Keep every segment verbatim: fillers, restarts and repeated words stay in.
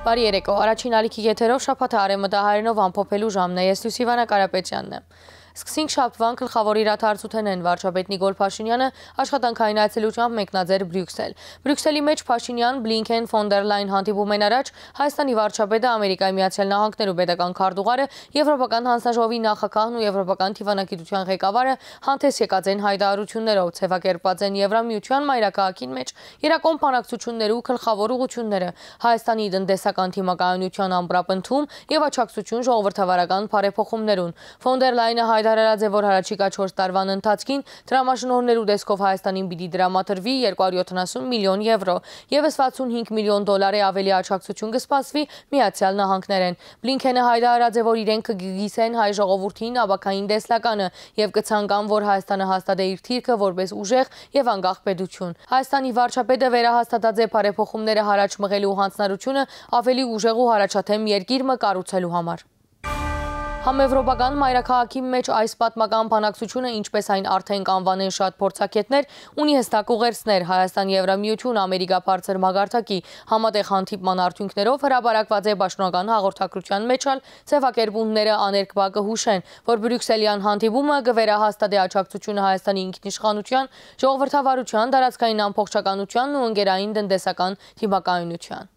Բարի երեկո, առաջին ալիքի եթերով շաբաթը արևմտահայերենով ամփոփելու ժամն է, ես Լուսիվանա Կարապետյանն եմ։ Սկսենք շաբթվան գլխավոր իրադարձություններն վարչապետ Նիկոլ Փաշինյանը աշխատանքային այցելությամբ մեկնաձեր Բրյուսել։ Բրյուսելի մեջ Փաշինյան, Բլինքեն, ֆոն դեր Լայն հանդիպում են առաջ Հայաստանի վարչապետը, Ամերիկայի Միացյալ Նահանգներու պետական քարտուղարը, Եվրոպական հանձնաժողովի նախագահն ու Եվրոպական թիվանագիտության ղեկավարը հանդես եկած են հայտարարություններով, ցեվակերպված են Եվրամիության մայրաքաղաքին մեջ իրական բանակցություններու գլխավոր ուղղությունները, Հայաստանի տնտեսական թիմակայունության ամբրապնդում եւ աջակցություն ժողովրդավարական բարեփոխումներուն։ Ֆոն դեր Լայնը հայտարարած է, որ հառաջիկա չորս տարվան ընթացքին դրամաշնորհներու դեսքով Հայաստանին պիտի դրամատրվի երկու հարյուր յոթանասուն միլիոն եվրո, ևս վաթսունհինգ միլիոն դոլարի ավելի աջակցություն կսպասվի Միացյալ Նահանգներեն։ Բլինքենը հայտարարած է, որ իրենք կգիսեն հայ ժողովրդին աբակային տեսլականը եւ կցանկան, որ Հայաստանը հաստատե իր թիրքը որպես ուժեղ եւ անկախ պետություն։ Հայաստանի վարչապետը վերահաստատած է բարեփոխումները հարաճ մղելու հանձնարարությունը ավելի ուժեղ ու հարաճաթեմ երկիր մը կառուցելու համար։ Համեվրոպական մայրաքաղաքի մեջ այս պատմական բանակցությունը, ինչպես այն արդեն կանվանեն շատ փորձագետներ, ունի հստակ ուղերձներ Հայաստան Եվրամիություն Ամերիկա բարձր մագարտակի համատեղ հանդիպման արդյունքներով հրապարակված է պաշտոնական հաղորդակցության մեջ ալ ձևակերպումները աներկբա կհուշեն, որ Բրյուսելյան հանդիպումը կվերահաստատի աջակցությունը Հայաստանի ինքնիշխանության, ժողովրդավարության, տարածքային ամբողջականությանն ու ընկերային տնտեսական թիմակայունության։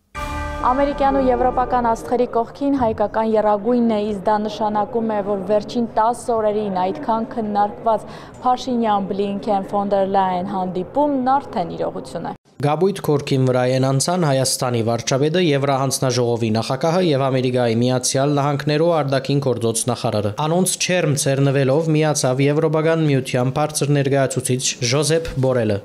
Ամերիկյան ու եվրոպական աստղերի կողքին հայկական եռագույնն է, իսկ դա նշանակում է, որ վերջին տասը օրերին այդքան քննարկված Փաշինյան, Բլինքեն, ֆոն դեր Լայն հանդիպումն արդեն իրողություն է։ Գաբույթ քորքին վրա են անցան Հայաստանի վարչապետը, Եվրահանձնաժողովի նախագահը եւ Ամերիկայի Միացյալ Նահանգներու արտաքին գործոց նախարարը։ Անոնց չերմ ցերնվելով միացավ Եվրոպական միության բարձր ներկայացուցիչ Ժոզեփ Բորելը։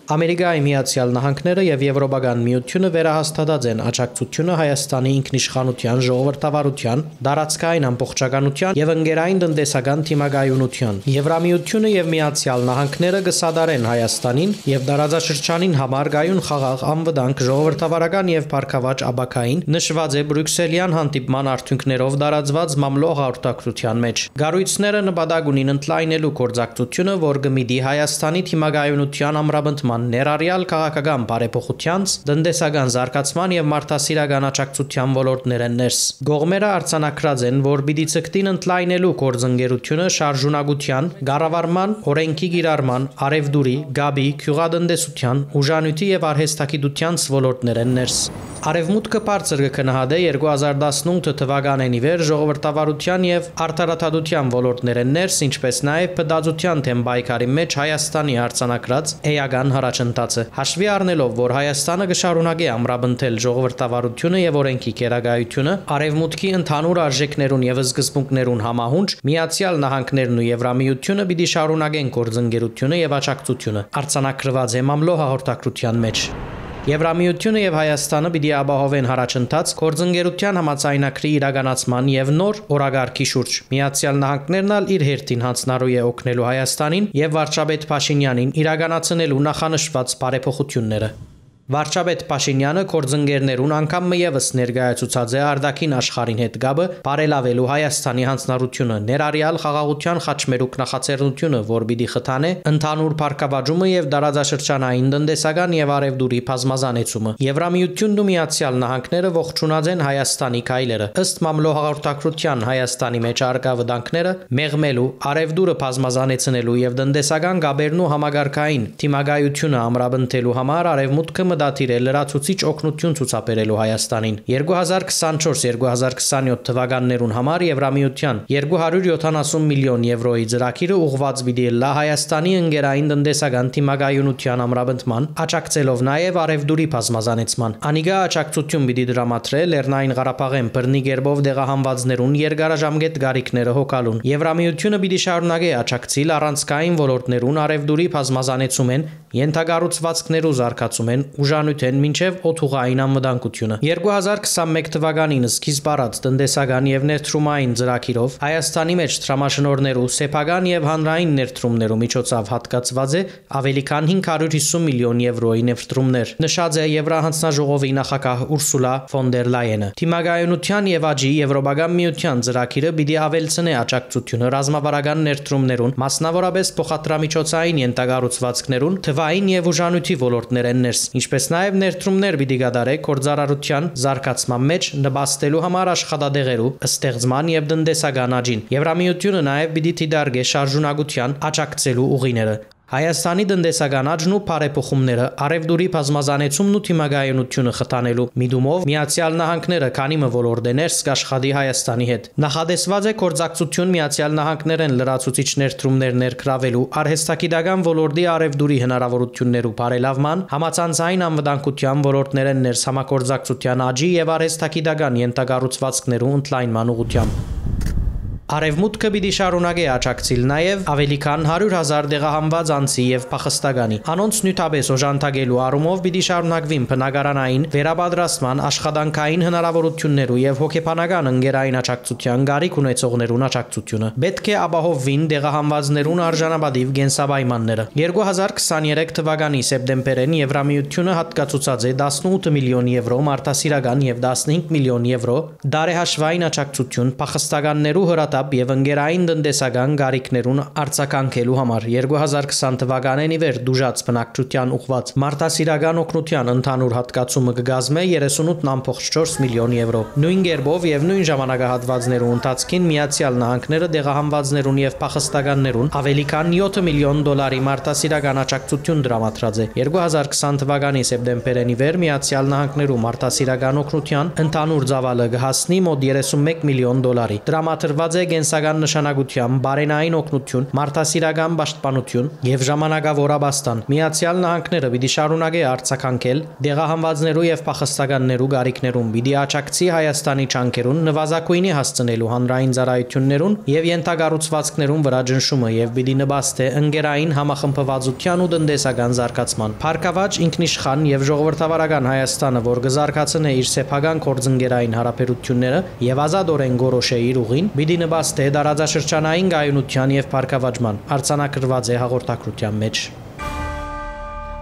Ամերիկայի Միացյալ Նահանգները եւ Եվրոպական միությունը վերահաստատած են աջակցությունը Հայաստանի ինքնիշխանության, ժողովրդավարության, տարածքային ամբողջականության եւ ընկերային տնտեսական թիմակայունության։ Եվրամիությունը եւ Միացյալ Նահանգները կսադարեն Հայաստանին եւ տարածաշրջանին համար գայուն խաղաղ անվտանգ ժողովրդավարական եւ բարգավաճ աբակային նշված է Բրյուսելյան հանդիպման արդյունքներով տարածված մամլո հաղորդակցության մեջ։ Գառույցները նպատակ ունին ընդլայնելու գործակցությունը, որ կմիտի Հայաստանի թիմակայունության ամրապնդման ներառյալ քաղաքական բարեփոխությանց, տնտեսական զարգացման եւ մարդասիրական աջակցության ոլորտներեն ներս։ Գողմերը արձանագրած են, որ պիտի ցկտին ընդլայնելու գործընկերությունը շարժունակության, կառավարման, օրենքի կիրառման, արևդուրի, գաբի, գյուղատնտեսության, ուժանույթի եւ արհեստագիտության ոլորտներեն ներս։ Արևմուտքը բարձր կքննադե երկու հազար տասնութ թվականին ի վեր ժողովրդավարության եւ արդարադատության ոլորտներեն ներս, ինչպես նաեւ բդածության թեմ պայքարի մեջ Հայաստանի արձանագրած էական առաջընթացը հաշվի առնելով, որ Հայաստանը կշարունակի ամրապնդել ժողովրդավարությունը եւ օրենքի կերակայությունը, արևմուտքի ընդհանուր արժեքներուն եւ սկզբունքներուն համահունչ Միացյալ Նահանգներն ու Եվրամիությունը պիտի շարունակեն գործընկերությունը եւ աջակցությունը, արձանագրված է մամլո հաղորդակցության մեջ։ Եվրամիությունը եւ Հայաստանը պիտի ապահովեն հարաճընթաց գործընկերության համաձայնագրի իրականացման եւ նոր օրագարկի շուրջ։ Միացյալ Նահանգներն ալ իր հերթին հանձնարարու է օգնելու Հայաստանին եւ վարչապետ Փաշինյանին իրականացնելու նախանշված բարեփոխությունները։ Վարչապետ Փաշինյանը գործընկերներուն անգամ եւս ներկայացուցած է արտաքին աշխարհին հետ գաբը բարելավելու Հայաստանի հանձնարարությունը, ներառյալ խաղաղության խաչմերուկ նախաձեռնությունը, որ պիտի խթանե ընդհանուր բարգավաճումը եւ տարածաշրջանային տնտեսական եւ արևդուրի բազմազանեցումը։ Եվրամիությունն ու Միացյալ Նահանգները ողջունած են Հայաստանի քայլերը։ Ըստ մամլո հաղորդակցության Հայաստանի մեջ արկա վտանգները մեղմելու, արևդուրը բազմազանեցնելու եւ տնտեսական գաբերն ու համագարկային թիմակայությունը ամրապնդելու համար արևմուտքը դատիրել լրացուցիչ օգնություն ցուցաբերելու Հայաստանին։ երկու հազար քսանչորս երկու հազար քսանյոթ թվականներուն համար Եվրամիության երկու հարյուր յոթանասուն միլիոն եվրոյի ծրագիրը ուղղված պիտի լա Հայաստանի ընկերային տնտեսական թիմակայունության ամրապնդման, աջակցելով նաև արևդուրի բազմազանեցման։ Անիգա աջակցություն պիտի դրամատրե Լեռնային Ղարաբաղեն բռնի գերբով դեղահանվածներուն երկարաժամկետ գարիքները հոգալուն։ Եվրամիությունը պիտի շարունակի աջակցել առանցքային ոլորտներուն արևդուրի բազմազանեցումեն, ենթակառուցվածքներու զարգացումեն, ուժանույթեն մինչև օթուղային անվտանգությունը։ երկու հազար քսանմեկ թվականին սկիզբ առած տնտեսական եւ ներդրումային ծրագիրով Հայաստանի մեջ տրամաշնորհներու սեփական եւ հանրային ներդրումներու միջոցով հատկացված է ավելի քան հինգ հարյուր հիսուն միլիոն եվրոյի ներդրումներ, նշած է Եվրահանձնաժողովի նախագահ Ուրսուլա ֆոն դեր Լայենը։ Թիմակայունության եւ աճի Եվրոպական միության ծրագիրը պիտի ավելցնե աջակցությունը ռազմավարական ներդրումներուն, մասնավորապես փոխադրամիջոցային ենթակառուցվածքներուն, թվային ապային եւ ուժանույթի ոլորտներ են ներս, ինչպես նաեւ ներդրումներ պիտի գդարե գործարարության զարգացման մեջ նպաստելու համար աշխատադեղերու ստեղծման եւ տնտեսական աճին։ Եվրամիությունը նաեւ պիտի դիտարկե շարժունակության աջակցելու ուղիները։ Հայաստանի տնտեսական աճն ու բարեփոխումները արևդուրի բազմազանեցումն ու թիմագայունությունը խթանելու միտումով Միացյալ Նահանգները քանի մը ոլորտներ կաշխատի Հայաստանի հետ։ Նախադեсված է գործակցություն Միացյալ Նահանգներեն լրացուցիչ ներդրումներ ներգրավելու արհեստագիտական ոլորտի արևդուրի հնարավորություններու բարելավման, համացանցային անվտանգության ոլորտներեն ներս համագործակցության աճի եւ արհեստագիտական յենթակառուցվածքներու ընդլայնման ուղղությամբ։ Արևմուտքը պիտի շարունակի աջակցել նաև ավելի քան հարյուր հազար դեղահանված անձի եւ փախստականի։ Անոնց նյութաբես օժանդակելու առումով պիտի շարունակվին բնակարանային վերապատրաստման աշխատանքային հնարավորություններու եւ հոգեբանական ընկերային աջակցության գարիք ունեցողներուն աջակցությունը։ Պետք է ապահովվին դեղահանվածներուն արժանապատիվ կենսապայմանները։ երկու հազար քսաներեք թվականի սեպտեմբերին Եվրամիությունը հատկացուցած է տասնութ միլիոն եվրո մարդասիրական եւ տասնհինգ միլիոն եվրո դարեհաշվային աջակցություն փախստականներու հրատապ եւ ընկերային տնտեսական գարիքներուն արձագանքելու համար երկու հազար քսան թվականին ի վեր դուժած բնակչության ուղղված մարդասիրական օգնության ընդհանուր հատկացումը կգազմե երեսունութ կόμμα չորս միլիոն եվրո։ Նույն կերպով եւ նույն ժամանակահատվածներու ընթացքին Միացյալ Նահանգները դեղահանվածներուն եւ փախստականներուն ավելի քան յոթ միլիոն դոլարի մարդասիրական աջակցություն դրամատրած է։ երկու հազար քսան թվականի սեպտեմբերին ի վեր Միացյալ Նահանգներու մարդասիրական օգնության ընդհանուր ծավալը կհասնի մոտ երեսունմեկ միլիոն դոլարի։ Դրամատրված է գենսական նշանակության բարենային օգնություն, մարդասիրական պաշտպանություն եւ ժամանակավոր աբաստան։ Միացյալ Նահանգները պիտի շարունակի արձագանքել դեղահանվածներու եւ փախստականներու գարիքներուն, պիտի աջակցի Հայաստանի ճանկերուն նվազագույնի հասցնելու հանրային ծառայություններուն եւ յենթակառուցվածքներուն վրա ճնշումը եւ պիտի նպաստի ընկերային համախմբվածության ու տնտեսական զարգացման։ Փառքավաճ ինքնիշխան եւ ժողովրդավարական Հայաստանը, որ կզարգացնե իր սեփական գործընկերային հարաբերությունները եւ ազատորեն գորոշե իր ուղին, պիտի նպաստի դարաձաշրջանային գայունության եւ փառքավաճման, արձանագրված է հաղորդակցության մեջ։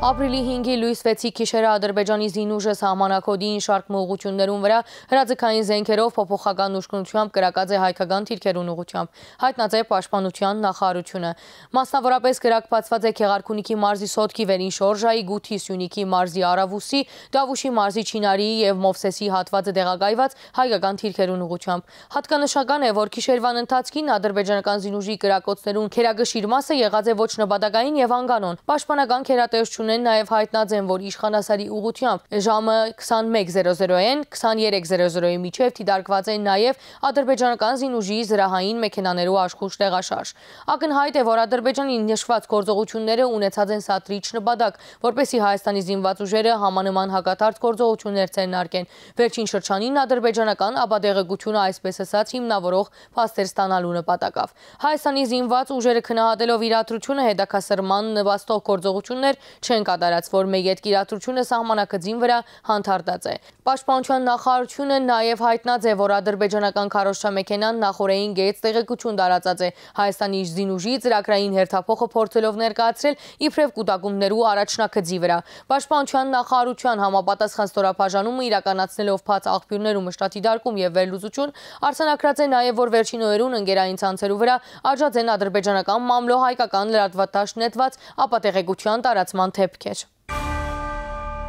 Ապրիլի հինգի լույս վեցի գիշերը Ադրբեջանի զինուժը սահմանակոդին շարք ուղղություններուն վրա հրաձգային զենքերով փոփոխական ուշքնությամբ կրակած է հայկական թիրքերուն ուղղությամբ, հայտնած է պաշտպանության նախարարությունը։ Մասնավորապես կրակված է Քեղարքունիքի մարզի Սոտքի վերին շորժայի, Գութի Սյունիքի մարզի Արավուսի, Դավուշի մարզի Չինարիի եւ Մովսեսի հատվածը դեղագայված հայկական թիրքերուն ուղղությամբ։ Հատկանշական է, որ գիշերվան ընթացքին ադրբեջանական զինուժի կրակոցներուն քերագշիր մասը եղած է ոչ նպատակային եւ անկանոն։ Պաշտպանական քերատեսչություն նաև հայտնած են, որ իշխանասարի ուղղությամբ ժամը քսանմեկ զերո զերոին քսաներեք զերո զերոյի միջև դիտարկված են նաև ադրբեջանական զինուժի զրահային մեքենաներու աշխուժ տեղաշարժ։ Ակնհայտ է, որ Ադրբեջանի նշված գործողությունները ունեցած են սադրիչ նպատակ, որպեսզի Հայաստանի զինված ուժերը համանման հակադարձ գործողություններ ձեռնարկեն։ Վերջին շրջանին ադրբեջանական ապադեղեցությունը այսպես ասած հիմնավորող փաստեր ստանալու նպատակով։ Հայաստանի զինված ուժերը քննադատելով իրադրությունը հետաքասրման նպաստող գործողություններ չեն կատարած, որ մեկ այդ իրադրությունը սահմանակցին վրա հանդարտած է։ Պաշտպանության նախարարությունը նաև հայտնած է, որ ադրբեջանական քարոզչամեքենան նախորդային գեծ տեղեկություն տարածած է Հայաստանի զինուժի ծրագրային հերթափոխը փորձելով ներկայացրել իբրև կուտակումներու առաջնակցի վրա։ Պաշտպանության նախարարության համապատասխան ստորաբաժանումը իրականացնելով բաց աղբյուրներու մշտատի դարկում եւ վերլուծություն արձանագրած է նաև, որ վերջին օրերուն ընկերային ցանցերու վրա աջած են ադրբեջանական մամլո հայկական լրատվատաշ նետված ապատեղեկության տարածման թեփքեր։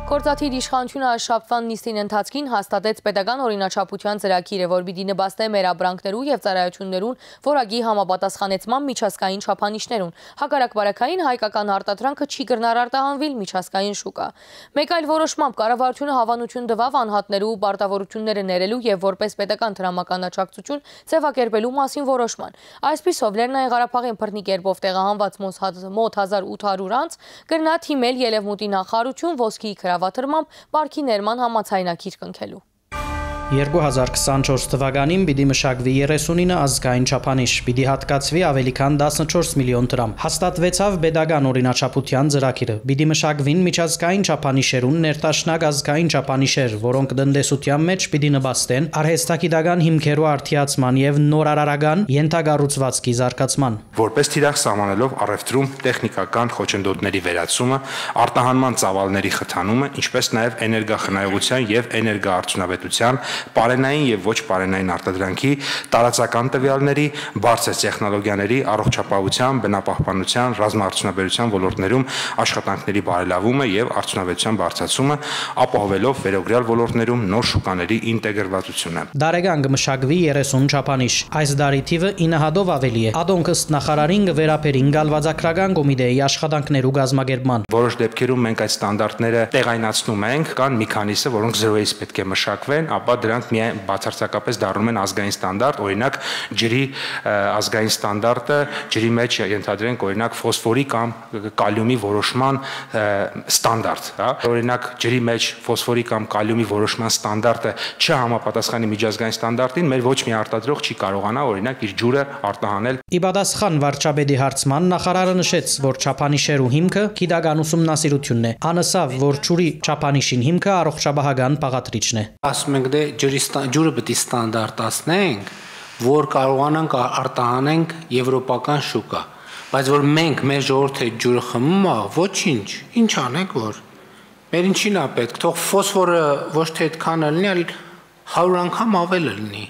Գործադիր իշխանությունը շաբթվան նիստին ընթացքին հաստատեց պետական օրինաչափության ծրագիրը, որ պիտի նպաստի մեր ապրանքներու եւ ծառայություններուն որակի համապատասխանեցման միջազգային չափանիշներուն։ Հակառակ բարակային հայկական արտադրանքը չի կրնար արտահանվել միջազգային շուկա։ Մեկ այլ որոշմամբ կառավարությունը հավանություն տվավ անհատներու պարտավորությունները ներելու եւ որպես պետական դրամական աջակցություն ձևակերպելու մասին որոշման։ Այսպիսով Լեռնային Ղարաբաղին բռնի կերպով տեղահանված մոտ հազար ութ հարյուր անց կրնա թիմել Ելևմուտի նախարարություն ոսկի վատրմամբ պարքի ներման համացայնակիր կնքելու։ երկու հազար քսանչորս թվականին պիտի մշակվի երեսունինը ազգային չափանիշ, պիտի հատկացվի ավելի քան տասնչորս միլիոն դրամ։ Հաստատվեցավ պետական օրինաչափության ծրագիրը, պիտի մշակվին միջազգային չափանիշերուն ներդաշնակ ազգային չափանիշեր, որոնք տնտեսության մեջ պիտի նպաստեն արհեստագիտական հիմքերու արդիացման եւ նորարարական յենթակառուցվածքի զարգացման։ Որպես թիրախ սահմանելով առևտրում տեխնիկական խոչընդոտների վերացումը, արտահանման ծավալների խթանումը, ինչպես նաեւ էներգախնայողության եւ էներգաարդյունավետության պարենային եւ ոչ պարենային արտադրանքի, տարածական տվյալների, բարձր տեխնոլոգիաների, առողջապահության, բնապահպանության, ռազմաարդյունաբերության ոլորտներում աշխատանքների բարելավումը եւ արդյունավետության բարձրացումը, ապահովելով վերօրյալ ոլորտներում նոր շուկաների ինտեգրվածությունը։ Դարեգան կմշակվի երեսուն չափանիշ։ Այս դարի թիվը ինը հատով ավելի է։ Ադոնք ըստ նախարարին կվերապերին գալվածակրական կոմիտեի աշխատանքներու գազմագերբման։ Որոշ դեպքերում մենք այդ ստանդարտները տեղայնացնում ենք, կան մի քանիսը, որոնք զրոյից պետք է մշակվեն, ապա դրանք միայն բացարձակապես դառնում են ազգային ստանդարտ, օրինակ ջրի ազգային ստանդարտը, ջրի մեջ ենթադրենք օրինակ ֆոսֆորի կամ կալիումի որոշման ստանդարտ, հա, օրինակ ջրի մեջ ֆոսֆորի կամ կալիումի որոշման ստանդարտը չհամապատասխանի միջազգային ստանդարտին, մեր ոչ մի արտադրող չի կարողանա օրինակ իր ջուրը արտահանել։ Ի պատասխան վարչապետի հարցման նախարարը նշեց, որ չափանիշերու հիմքը գիտական ուսումնասիրությունն է։ Անսավ, որ ջուրի չափանիշին հիմքը առողջապահական բաղադրիչն է։ Ասում ենք դե ջրի ջուրը պետք է ստանդարտացնենք, որ կարողանանք արտահանենք եվրոպական շուկա, բայց որ մենք մեր ժողովրդի ջուրը խմում է, ոչինչ, ինչ անենք որ մեր ինչին է պետք, թող ֆոսֆորը ոչ թե այդքան լինի, այլ հարյուր անգամ ավել լինի։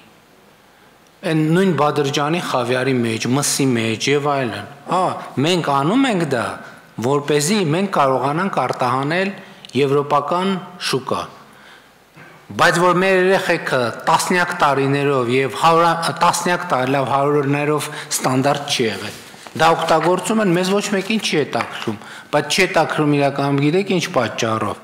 Այն նույն Բադրջանի խավիարի մեջ, մսի մեջ եւ այլն։ Հա, մենք անում ենք դա, որպեսզի մենք կարողանանք արտահանել եվրոպական շուկա։ Բայց որ մեր երեխեքը տասնյակ տարիներով եւ տասնյակ տարիներով հարյուրներով ստանդարտ չի եղել։ Դա օգտագործում են, մեզ ոչ մեկին չի հետաքրում, բայց չի հետաքրում իրականում գիտեք ինչ պատճառով,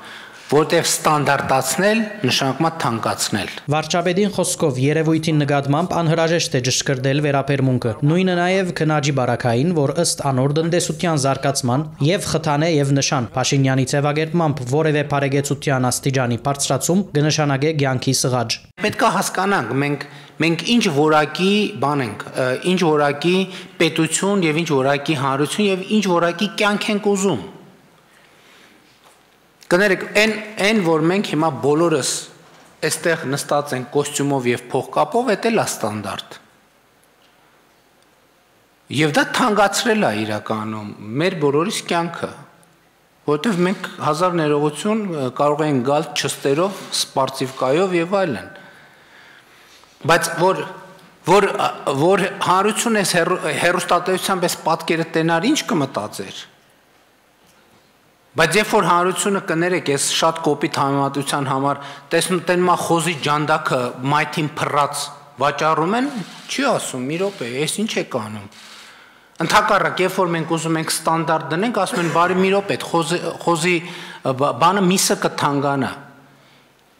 որտեղ ստանդարտացնել նշանակում է թանկացնել։ Վարչապետին խոսքով երևույթին նկատմամբ անհրաժեշտ է ճշգրտել վերաբերմունքը։ Նույնը նաև քնաջի բարակային, որ ըստ անոր տնտեսության զարգացման եւ խթանե եւ նշան Փաշինյանի ձևակերպմամբ որևէ բարեգեցության աստիճանի բարձրացում կնշանակե ցանկի սղաճ։ Պետք է հասկանանք, մենք մենք ինչ որակի բան ենք, ինչ որակի պետություն եւ ինչ որակի հանրություն եւ ինչ որակի կյանք ենք ուզում։ Կներեք, այն այն որ մենք հիմա բոլորս այստեղ նստած ենք կոստյումով եւ փողկապով, դա էլ է ստանդարտ։ Եվ դա թանկացրել է իրականում մեր բոլորիս կյանքը, որովհետեւ մենք հազար ներողություն կարող ենք գալ չստերով, սպարծիվկայով եւ այլն։ Բայց որ որ որ հանրություն էս հերոստատեյությամբ էս պատկերը տենար ինչ կմտածեր։ Բայց երբ որ հանրությունը կներեք, ես շատ կոպիտ համեմատության համար տեսնում տենմա խոզի ջանդակը մայթին փռած վաճառում են, չի ասում, մի րոպե, ես ինչ եք անում։ Ընդհակառակ, երբ որ մենք ուզում ենք ստանդարտ դնենք, ասում են, բարի մի րոպե, այդ խոզի խոզի բանը միսը կթանկանա։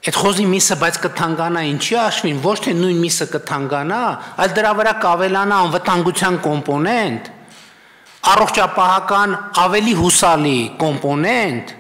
Այդ խոզի միսը բայց կթանկանա ինչի հաշվին, ոչ թե նույն միսը կթանկանա, այլ դրա վրա կավելանա անվտանգության կոմպոնենտ, առողջապահական ավելի հուսալի կոմպոնենտ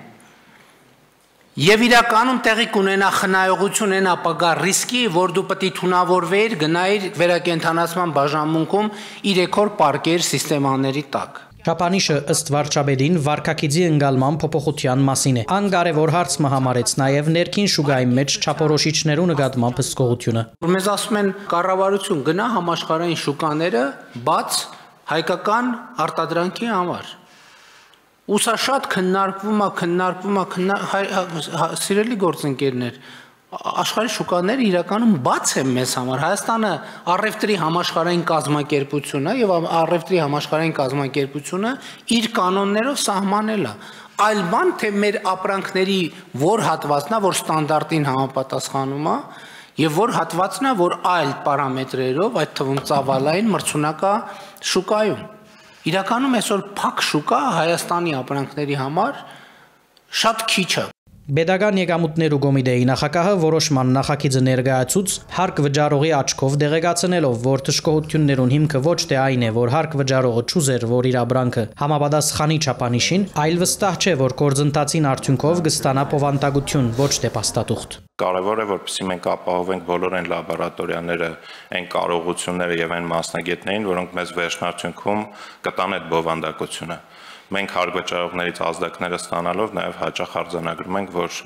եւ իրականում տեղի կունենա խնայողություն այն ապագա ռիսկի, որ դու պետք է թունավորվեիր, գնայիր վերակենդանացման բաժանմունքում երեք օր պարկեր սիստեմաների տակ։ Չափանիշը ըստ վարչապետին վարկակիցի ընկալման փոփոխության մասին է։ Անգարևոր հարցը համարեց նաև ներքին շուկայի մեջ չափորոշիչներու նկատմամբ հսկողությունը։ Մեզ ասում են կառավարություն գնա համաշխարհային շուկաները բաց հայկական արտադրանքի համար։ Ու սա շատ քննարկվում է, քննարկվում է, սիրելի գործընկերներ, աշխարհի շուկաները իրականում բաց են մեզ համար։ Հայաստանը առևտրի համաշխարհային կազմակերպություն է եւ առևտրի համաշխարհային կազմակերպությունը իր կանոններով սահմանել է։ Այլ բան թե մեր ապրանքների որ հատվածն է, որ ստանդարտին համապատասխանում է, եւ որ հատվածն է, որ այլ պարամետրերով, այդ թվում ծավալային մրցունակա շուկայում։ Իրականում այսօր փակ շուկա Հայաստանի ապրանքների համար շատ քիչ է։ Պետական եկամուտներու կոմիտեի նախագահը որոշման նախագիծը ներկայացուց հարկ վճարողի աչքով դեղեկացնելով, որ թշկողություններուն հիմքը ոչ թե այն է, որ հարկ վճարողը չուզեր, որ իր ապրանքը համապատասխանի չափանիշին, այլ վստահ չէ, որ գործընթացին արդյունքով կստանա բովանդակություն, ոչ թե փաստաթուղթ։ Կարևոր է, որպեսզի մենք ապահովենք բոլոր այն լաբորատորիաները, այն կարողությունները եւ այն մասնագետներին, որոնք մեզ վերջնարդյունքում կտան այդ բովանդակությունը։ Մենք հարգվճարողներից ազդակները ստանալով նաև հաճախ արձանագրում ենք, որ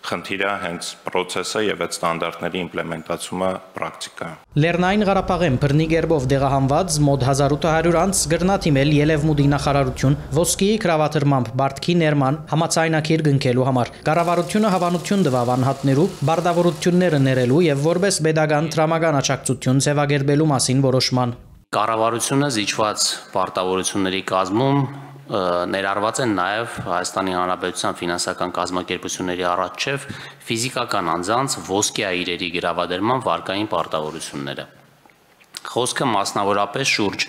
խնդիրը հենց process-ը եւ այդ ստանդարտների իմպլեմենտացումը պրակտիկայում։ Լեռնային Ղարաբաղեն բռնի գերբով դեղահանված մոտ հազար ութ հարյուր անց գրնաթիմել Ելևմուդի նախարարություն ոսկիի կրավատրմամբ Բարդքի ներման համացայնակիր գնքելու համար։ Կառավարությունը հավանություն տվավ անհատներու բարդավորությունները ներելու եւ որպես pedagogan տրամական աջակցություն ձևակերպելու մասին որոշման։ Կառավարությունը զիջված պարտավորությունների կազմում ներառված են նաև Հայաստանի Հանրապետության ֆինանսական կազմակերպությունների առաջև ֆիզիկական անձանց ոսկե իրերի գրավադրման վարկային պարտավորությունները։ Խոսքը մասնավորապես շուրջ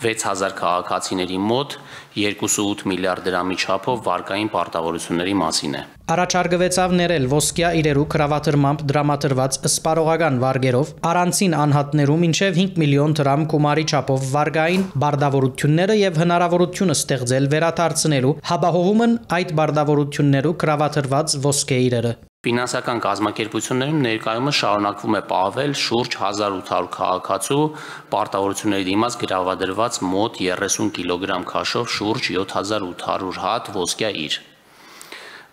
վեց հազար քաղաքացիների մոտ երկու կόμma ութ միլիարդ դրամի չափով վարկային պարտավորությունների մասին է։ Առաջարկվեցավ ներել ոսկյա իրերու կրավատրմամբ դրամատրված սպարողական վարգերով առանցին անհատներու մինչև հինգ միլիոն դրամ գումարի չափով վարկային բարդավորությունները եւ հնարավորությունը ստեղծել վերադարձնելու հաբահովումն այդ բարդավորություններու կրավատրված ոսկե իրերը։ Ֆինանսական կազմակերպություններում ներկայումս շարունակվում է պահվել շուրջ հազար ութ հարյուր քաղաքացու պարտավորությունների դիմաց գրավադրված մոտ երեսուն կիլոգրամ քաշով շուրջ յոթ հազար ութ հարյուր հատ ոսկյա իր։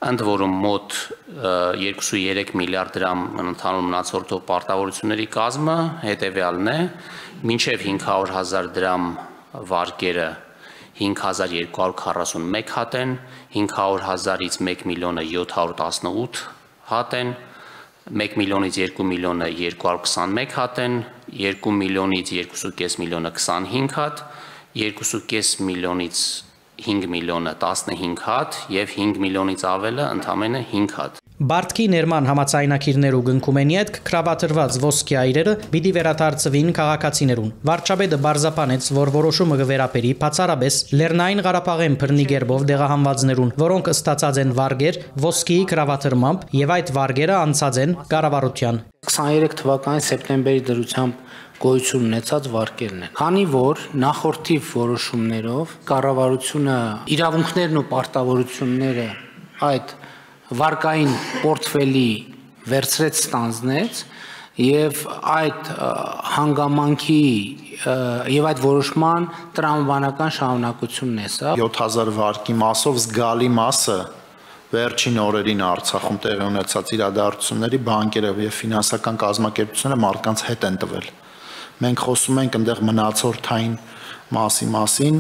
Ընդ որում մոտ երկու կόμma երեք միլիարդ դրամ ընդհանուր մնացորդող պարտավորությունների կազմը հետևյալն է՝ մինչև հինգ հարյուր հազար դրամ վարկերը հինգ հազար երկու հարյուր քառասունմեկ հատ են, հինգ հարյուր հազարից մեկ միլիոնը յոթ հարյուր տասնութ հատ են, մեկ միլիոնից երկու միլիոնը երկու հարյուր քսանմեկ հատ են, երկու միլիոնից երկու կόμma պենս միլիոնը քսանհինգ հատ, երկու կόμma պենս միլիոնից հինգ միլիոնը տասնհինգ հատ եւ հինգ միլիոնից ավելը ընդամենը հինգ հատ։ Բարդքի ներման համացայնակիրներու գնքում են յետք կրավատրված ոսկյա իրերը պիտի վերադարձվին քաղաքացիներուն։ Վարչապետը բարձապանեց, որ որոշումը կվերապերի բացառապես Լեռնային Ղարաբաղեն բռնի գերբով դեղահանվածներուն, որոնք ստացած են վարգեր ոսկիի կրավատրմամբ եւ այդ վարգերը անցած են կառավարության։ քսաներեք թվականի սեպտեմբերի դրությամբ գոյություն ունեցած վարկերն են։ Քանի որ նախորդիվ որոշումներով կառավարությունը իրավունքներն ու պարտավորությունները այդ վարկային պորտֆելի վերցրեց ստանձնեց եւ այդ հանգամանքի եւ այդ որոշման տրամաբանական շարունակությունն է սա։ յոթ հազար վարկի մասով զգալի մասը վերջին օրերին Արցախում տեղի ունեցած իրադարձությունների բանկերը եւ ֆինանսական կազմակերպությունները մարդկանց հետ են տվել։ Մենք խոսում ենք այնտեղ մնացորդային մասի մասին,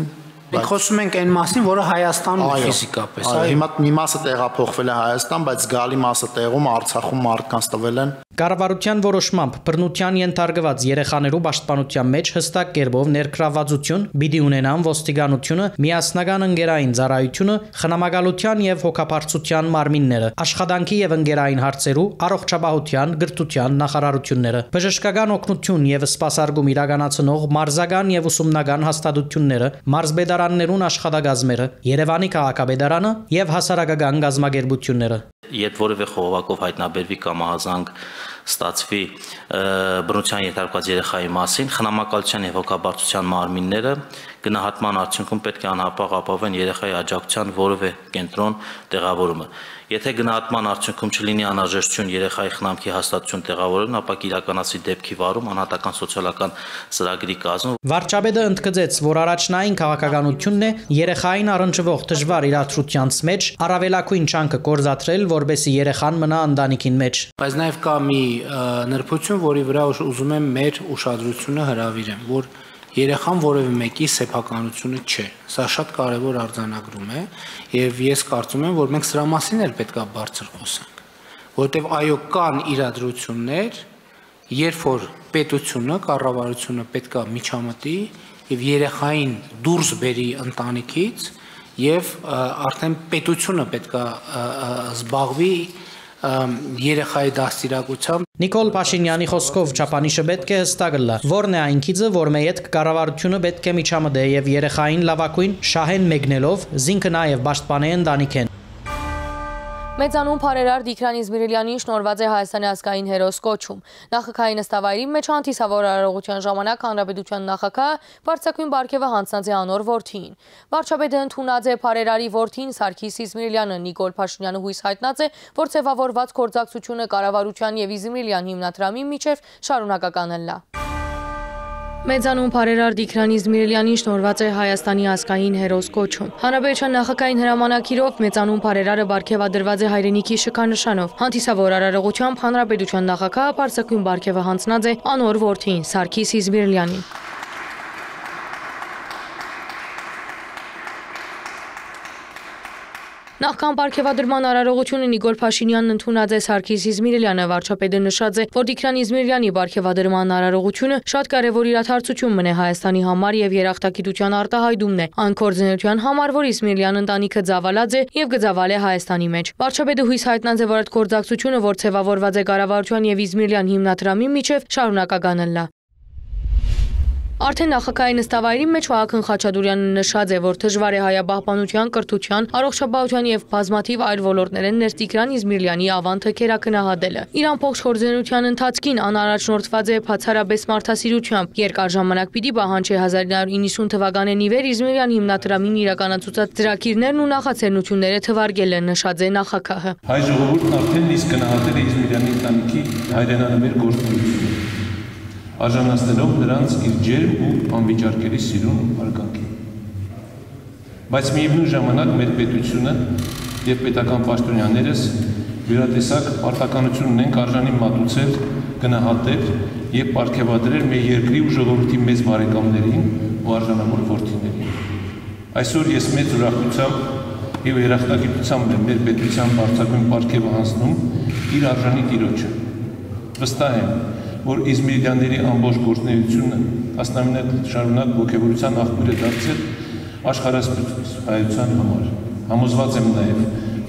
մենք խոսում ենք այն մասին, որը Հայաստանում է ֆիզիկապես։ Այո, հիմա մի մասը տեղափոխվել է Հայաստան, բայց զգալի մասը տեղում Արցախում մարդկանց տվել են։ Կառավարության որոշմամբ բռնության ենթարկված երեխաներու պաշտպանության մեջ հստակ կերպով ներգրավվածություն պիտի ունենան ոստիկանությունը, միասնական ընկերային ծառայությունը, խնամակալության եւ հոգապարծության մարմինները, աշխատանքի եւ ընկերային հարցերու, առողջապահության, գրթության նախարարությունները, բժշկական օգնություն եւ սպասարկում իրականացնող մարզական եւ ուսումնական հաստատությունները, մարզբեդարաններուն աշխատակազմերը, Երևանի քաղաքապետարանը եւ հասարակական գազམ་ագերբությունները։ Երբ որևէ խողովակով հայտնաբերվի կամ ահազանգ ստացվի բռնության ենթարկված երեխայի մասին, խնամակալության եւ հոգաբարձության մարմինները գնահատման արդյունքում պետք է անհապաղ ապահովեն երեխայի աջակցության որևէ կենտրոն տեղավորումը։ Եթե գնահատման արդյունքում չլինի անհրաժեշտություն երեխայի խնամքի հաստատություն տեղավորելուն, ապա կիրականացվի դեպքի վարում անհատական սոցիալական ծրագրի կազմում։ Վարչապետը ընդգծեց, որ առաջնային քաղաքականությունն է երեխային առնչվող դժվար իրադրությանց մեջ առավելակույն չանկը կորզաթրել, որբեսի երեխան մնա ընտանիքին մեջ։ Բայց նաև կա մի նրբություն, որի վրա ուզում եմ մեր ուշադրությունը հրավիրեմ, որ երեխան որևէ մեկի սեփականությունը չէ։ Սա շատ կարևոր արձանագրում է, եւ ես կարծում եմ, որ մենք սրա մասին էլ պետք է բարձր խոսենք, որովհետեւ այո կան իրադրություններ, երբ որ պետությունը, կառավարությունը պետք է միջամտի եւ երեխային դուրս բերի ընտանիքից եւ արդեն պետությունը պետք է զբաղվի երեխայի դաստիարակությամբ։ Նիկոլ Փաշինյանի խոսքով չափանիշը պետք է հստակ լա, որն է այն քիծը, որ մեյետ կառավարությունը պետք է միջամտե եւ երեխային լավակույն շահեն մեկնելով զինքը նաեւ պաշտպանե ընտանիքեն։ Մեծանուն Փարերար Դիքրան Իզմիրիլյանին շնորհված է Հայաստանի ազգային հերոս կոչում։ Նախագահի նստավայրի մեջ հանդիսավոր արարողության ժամանակ հանրապետության նախագահը բարձրակույն բարգեւը հանձնած է անոր որդիին։ Վարչապետը ընդունած է Փարերարի որդին Սարգիս Իզմիրիլյանը, Նիկոլ Փաշինյանը հույս հայտնած է, որ ձևավորված գործակցությունը կառավարության եւ Իզմիրիլյան հիմնադրամի միջև շարունակական լա։ Մեծանուն բարերար Դիքրան Իզմիրելյանին շնորհված է Հայաստանի ազգային հերոս կոչում։ Հանրապետության նախագահային հրամանագիրով մեծանուն բարերարը բարգեւադրված է հայրենիքի շքանշանով։ Հանդիսավոր արարողությամբ Հանրապետության նախագահը բարձրագույն բարգեւը հանձնած է անոր որդին Սարգիս Իզմիրելյանին։ Նախքան բարգեւադրման արարողությունը Նիկոլ Փաշինյանն ընդունած է Սարգիս Իզմիրելյանը, վարչապետը նշած է, որ Դիքրան Իզմիրելյանի բարգեւադրման արարողությունը շատ կարևոր իրադարձություն մնե Հայաստանի համար եւ երախտագիտության արտահայտումն է, այն կորձունեության համար, որ Իզմիրելյան ընտանիքը ծավալած է եւ կծավալե Հայաստանի մեջ։ Վարչապետը հույս հայտնած է, որ այդ կորձակցությունը, որ ցեվավորված է կառավարության եւ Իզմիրելյան հիմնադրամի միջև, շարունակական լա։ Արդեն նախագահի նստավայրի մեջ Վահագն Խաչատուրյանը նշած է, որ դժվար է հայապահպանության, կրթության, առողջապահության եւ բազմաթիվ այլ ոլորտներեն ներս Դիքրան Իզմիրելյանի ավանդը քերակնահատելը։ Իրան փոխշորձենության ընթացքին անառաջնորդված է բացառապես մարդասիրությամբ։ Երկար ժամանակ պիտի պահանջի հազար իննյակ ութ նոյ թվականին ի վեր Իզմիրելյան հիմնադրամին իրականացուցած ծրագիրներն ու նախաձեռնությունները թվարկել է, նշած է նախագահը։ Հայ ժողովուրդն արդեն իսկ գնահատել է Իզմիրելյանի ընտանիքի հայրենանվեր գործունեությունը, արժանացնելով նրանց իր ջերմ ու անվիճարկելի սիրուն արգանքին։ Բայց միևնույն ժամանակ մեր պետությունը եւ պետական պաշտոնյաներս յուրատեսակ պարտականություն ունենք արժանի մատուցել, գնահատել եւ պարգեւադրել մեր երկրի ու ժողովրդի մեծ բարեկամներին ու արժանավոր որդիներին։ Այսօր ես մեծ ուրախությամբ եւ երախտագիտությամբ եմ մեր պետության բարձրագույն պարգևը հանձնում իր արժանի տիրոջը։ Վստահ եմ, որ Իզմիրելյանների ամբողջ գործունեությունը տասնամյակ շարունակ ոգևորության աղբյուր է դարձել աշխարհասփյուռ հայության համար։ Համոզված եմ նաև,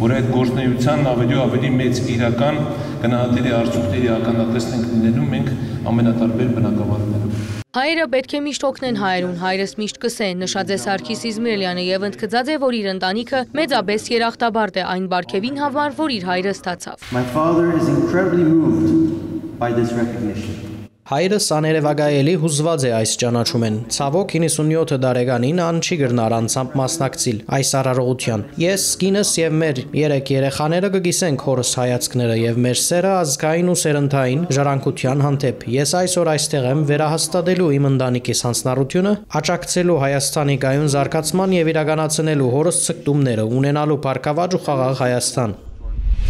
որ այդ գործունեությանն ավելի ու ավելի մեծ իրական գնահատելի արդյունքների ականատեսն ենք լինելու մենք ամենատարբեր բնակավարներում։ Հայերը պետք է միշտ օգնեն հայերուն, հայրս միշտ կսե, նշած է Սարգիս Իզմիրելյանը եւ ընդգծած է, որ իր ընտանիքը մեծապես երախտաբարդ է այն բարգեւին համար, որ իր հայրը ստացավ։ My father is incredibly moved by this recognition. Հայրս աներևակայելի հուզված է այս ճանաչումեն։ Ցավոք իննսունյոթ տարեկանին ան չի գրնար անցամբ մասնակցիլ այս արարողության։ Ես, կինս եւ մեր երեք երեխաները կգիսենք հորս հայացքները եւ մեր սերը ազգային ու սերնդային ժառանգության հանդեպ։ Ես այսօր այստեղ եմ վերահաստատելու իմ ընտանիքիս հանձնառությունը, աջակցելու Հայաստանի գայուն զարգացման եւ իրականացնելու հորս ցկտումները, ունենալու բարգավաճ ու խաղաղ Հայաստան։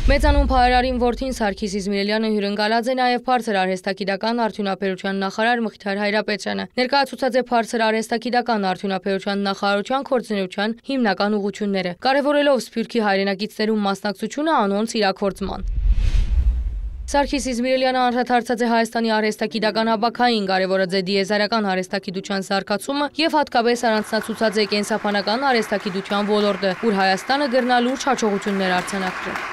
Մեծանուն բարերարին որդին Սարգիս Իզմիրելյանը հյուրընկալած է նաև բարձր արհեստագիտական արդյունաբերության նախարար Մխիթար Հայրապետյանը։ Ներկայացուցած է բարձր արհեստագիտական արդյունաբերության նախարարության կորձունեության հիմնական ուղղությունները, կարևորելով Սփյուռքի հայրենակիցներում մասնակցությունը անոնց իրաքործման։ Սարգիս Իզմիրելյանը անդրադարձած է Հայաստանի արհեստագիտական ապակային, կարևորած է դիեզերական արհեստագիտության զարգացումը եւ հատկապես առանձնացուցած է կենսաբանական արհեստագիտության ոլորտը, ուր Հայաստանը գրնա լուրջ հաջողություններ արձանագրել։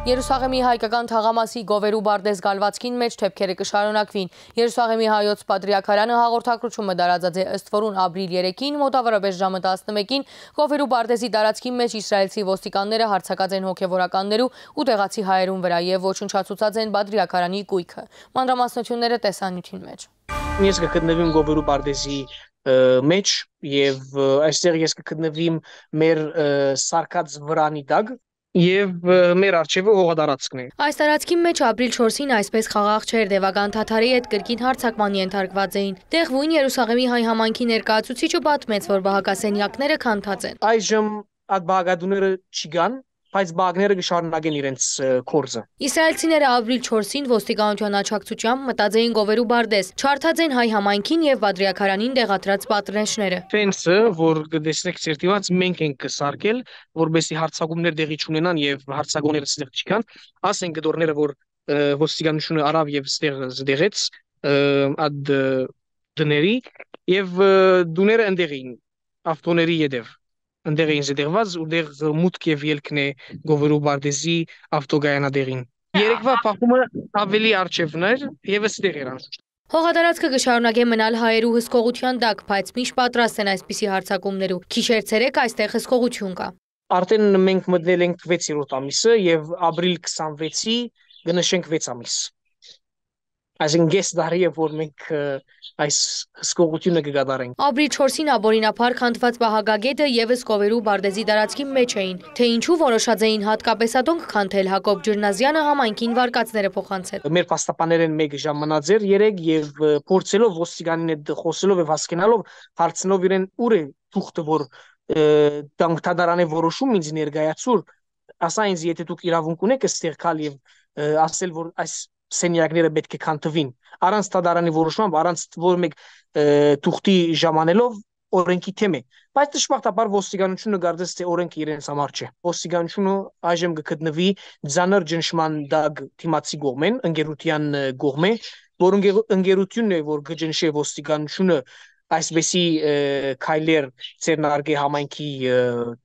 Երուսաղեմի հայկական թաղամասի Գովերու Բարդես գալվածքին մեջ թեփքերը կշարունակվին։ Երուսաղեմի հայոց պատրիարքարանը հաղորդակցությունը տարածած է ըստ որուն ապրիլ երեքին մոտավորապես ժամը տասնմեկին Գովերու Բարդեսի տարածքի մեջ իսրայելցի ոստիկանները հարձակած են հոգևորականներու ու տեղացի հայերուն վրա եւ ոչնչացուցած են պատրիարքարանի կույքը։ Մանրամասնությունները տեսանյութին մեջ։ Ես կգտնվեմ Գովերու Բարդեսի մեջ եւ այստեղ ես կգտնվեմ մեր սարկած վրանի տակ Եվ մեր արջևը հողատարածքն է։ Այս տարածքի մեջ ապրիլ չորսին այսպես խաղաղ չէր, դևական թաթարի հետ կրկին հարձակման ենթարկված էին։ Տեղվույն Երուսաղեմի հայ համայնքի ներկայացուցիչը պատմեց, որ բահակասենյակները քանդած են։ Այժմ այդ բաղադուները չկան, բայց բաղները կշարունակեն իրենց կորձը։ Իսրայելցիները ապրիլ չորսին ոստիկանության աջակցությամբ մտած էին Գովերու Բարդես, չարթած են հայ համայնքին եւ պատրիարքարանին դեղատրած պատրեշները։ Ֆենսը, որ կտեսնեք ցերտիված, մենք ենք կսարքել, որովհետեւ հարձակումներ տեղի չունենան եւ հարձակողները ստեղ չկան, ասենք դորները, որ ոստիկանությունը արավ եւ ստեղ զդեղեց այդ դների եւ դուները ընդեղին ավտոների յետև Ընդեղ էին զդեղված ու դեղ մուտք եւ ելքն է Գովերու Բարդեսի ավտոգայանադերին։ Երեկվա փախումը ավելի արժևն էր եւ ստեղ էր անշուշտ։ Հողատարածքը կշարունակե մնալ հայերու հսկողության տակ, բայց միշտ պատրաստ են այսպիսի հարձակումներու։ Քիչեր ցերեկ այստեղ հսկողություն կա։ Արդեն մենք մտնել ենք վեցերորդ ամիսը եւ ապրիլ քսանվեցի կնշենք վեց ամիս։ Այսինքն գես դարի է որ մենք այս հսկողությունը կգադարենք։ Աբրիլ չորսին աբորինափառ քանդված պահագագետը եւս Կովերու Բարդեզի տարածքի մեջ էին, թե ինչու որոշած էին հատկապես ադոնք քանդել, Հակոբ Ջրնազյանը համայնքին վարկածները փոխանցել։ Մեր փաստաբաններն մեկ ժամանած էր երեք եւ փորձելով ոստիկանին հետ խոսելով եւ հասկանալով հարցնով իրեն ուր է թուղթը որ դանկտադարանի որոշում ինձ ներկայացուր, ասա ինձ եթե դուք իրավունք ունեք այստեղ գալ եւ ասել որ այս սենյակները պետք է քանդվին առանց տադարանի որոշմամբ առանց որ մեկ թուղթի ժամանելով օրենքի թեմ է բայց դժբախտաբար ոստիկանությունը գարդես թե օրենքը իրենց համար չէ ոստիկանությունը այժմ կգտնվի ձանր ճնշման դակ թիմացի կողմեն ընկերության կողմէ որ ընկերությունն է որ կճնշի ոստիկանությունը այսպեսի քայլեր ցերնարգի համայնքի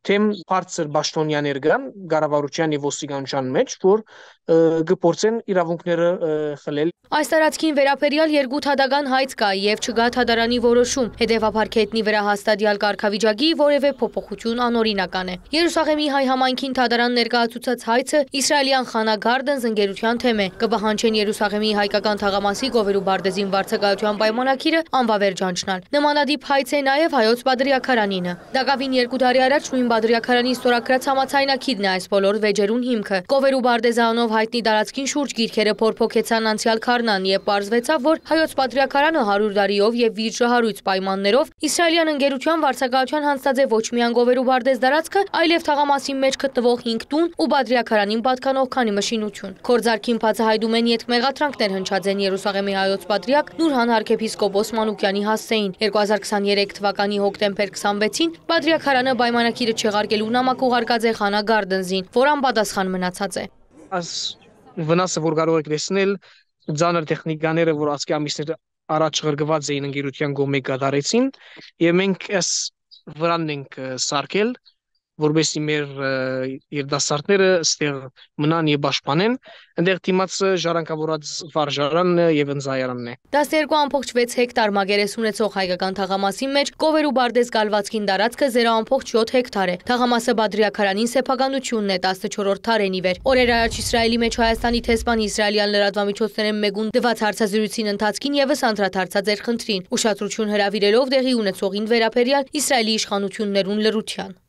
թեմ բարձր պաշտոնյաներ կան կառավարության եւ ոստիկանության մեջ որ կփորձեն իրավունքները խլել Այս տարածքին վերաբերյալ երկու թադական հայց կա եւ չկա թադարանի որոշում հետեւաբար քետնի վրա հաստատյալ կարգավիճակի որևէ փոփոխություն անօրինական է Երուսաղեմի հայ համայնքին թադարան ներկայացուցած հայցը իսրայելյան Խանա Գարդենս ընկերության թեմ է կպահանջեն Երուսաղեմի հայկական թաղամասի Կովերու Բարդեզին վարձակայության պայմանագիրը անվավեր ճանչնալ Նմանադիպ հայց է նաև հայոց Բադրիաքարանինը։ Դակավին երկու տարի առաջ նույն Բադրիաքարանի ստորագրած համաձայնագիրն է այս բոլոր վեճերուն հիմքը։ Կովերու Բարդեզանով հայտնի տարածքին շուրջ գիրքերը փորփոքեցան անցյալ քարնան եւ պարզվեցավ, որ հայոց Բադրիաքարանը հարյուր տարիով եւ վիճահարույց պայմաններով իսրայելյան ընկերության վարձակայության հանձնած է ոչ միայն Կովերու Բարդեզ տարածքը, այլև թաղամասի մեջ գտնվող հինգ տուն ու Բադրիաքարանին պատկանող քանի մշինություն։ Քորձարքին բացահայտում են ետքմեղատրանքներ հնչած են Երուսաղեմի հայոց Պատրիարք Նուրհան arczepiskopos Մանուկյանի հասցեին երկու հազար քսաներեք թվականի հոկտեմբեր քսանվեցին Բադրիաքարանը պայմանագիրը չեղարկելու նամակ ուղարկած է Խանա Գարդենսին, որ անպատասխան մնացած է։ Այս վնասը որ կարող եք տեսնել ձանր տեխնիկաները որ ասկի ամիսներ առաջ ղրգված էին ընկերության կողմէ կատարեցին եւ մենք այս վրանն ենք սարքել որովհետեւ մեր երդասարտները ստեղ մնան եւ պաշտպանեն այնտեղ դիմաց ժառանգավորած վարժարանն եւ ընձայարանն է տասներկու ամբողջ վեց հեկտար մագերես ունեցող հայկական թաղամասի մեջ Կովերու Բարդեզ գալվածքին տարածքը զերո ամբողջ յոթ հեկտար է թաղամասը Բադրիաքարանին սեփականությունն է տասնչորրորդ տարենի վեր օրեր առաջ Իսրայելի մեջ Հայաստանի տեսփան իսրայելյան լրատվամիջոցներեն մեկուն դված հարցազրույցին ընթացքին եւս անդրադարձած էր խնդրին ուշադրություն հրավիրելով դեղի ունեցողին վերաբերյալ Իսրայելի իշխանություններուն լրության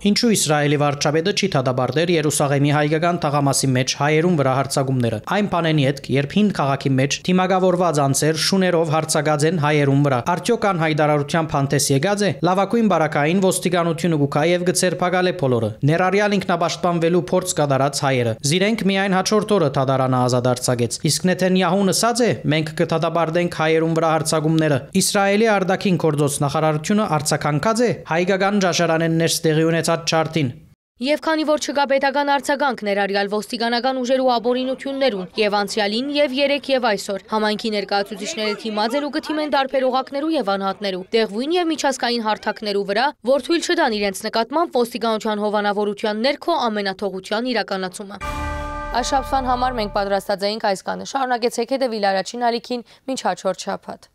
Ինչու Իսրայելի վարչապետը չի դադարել Երուսաղեմի հայկական թաղամասի մեջ հայերուն վրա հարձակումները։ Այն բանենի հետ, երբ հին քաղաքի մեջ թիմակավորված անձեր շուներով հարձակած են հայերուն վրա։ Արդյոք ան հայտարարության փանտես եկած է։ Լավակույն բարակային ոստիկանությունը գուկա եւ գցերփակալ է բոլորը։ Ներառյալ ինքնապաշտպանվելու փորձ կատարած հայերը։ Զիրենք միայն հաջորդ օրը դադարանը ազատ արձակեց։ Իսկ Նեթանյահուն ասաց է, մենք կդադարենք հայերուն վրա հարձակումները։ Իսրայելի արտաքին գործոց նախարարությունը արձականքած է հայկական ճաշարանեն ներստեղի ունեցած չարտին Եվ քանի որ չկա պետական արձագանք ներառյալ ոստիկանական ուժերու աբորինություններուն եւ անցյալին եւ երեք եւ այսօր համայնքի ներկայացուցիչները թիմած են ու կթիմեն տարբեր օղակներու եւ անհատներու դեղույն եւ միջազգային հարթակներու վրա որ թույլ չտան իրենց նկատմամբ ոստիկանության հովանավորության ներքո ամենաթողության իրականացումը Այս շաբթվան համար մենք պատրաստած էինք այս կանը շարունակեցեք հետևել առաջին ալիքին մինչ հաջորդ շաբաթ